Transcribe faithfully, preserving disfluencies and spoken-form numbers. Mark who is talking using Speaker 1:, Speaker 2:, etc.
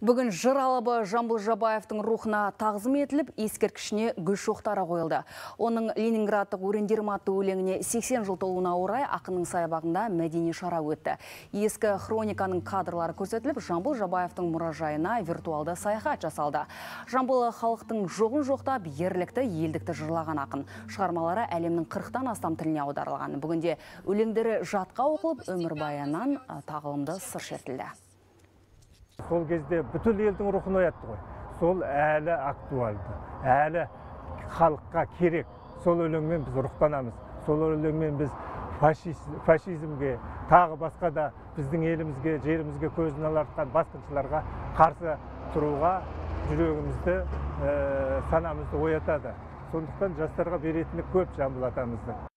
Speaker 1: Бүгін жыр алыбы Жамбыл Жабаевтың рухына тағзым етіліп, ескерткішіне гүл шоқтары қойылды. Оның Ленинградтық өрендерім атты өлеңіне сексен жыл толуына орай ақынның саябағында мәдени шара өтті. Ескі хрониканың кадрлары көрсетіліп, Жамбыл Жабаевтың мұражайына виртуалды саяхат жасалды. Жамбыл халықтың жоғын жоқтап, ерлікті, елдікті жырлаған ақын. Шығармалары әлемнің қырықтан астам тіліне аударылған. Бүгінде өлеңдері жатқа оқылып, өмірбаяннан тағылымды сыр шертілді.
Speaker 2: Сол кезде бүткіл елдің рухын оятты ғой. Сол әлі актуалды, әлі халыққа керек. Сол өлеңмен біз рухтанамыз. Сол өлеңмен біз фашизмге, тағы басқа да біздің елімізге, жерімізге көзін алартқан басқыншыларға қарсы тұруға жүрегімізді, санамызды оятады. Сондықтан жастарға беретіні көп Жамбыл атамыздың.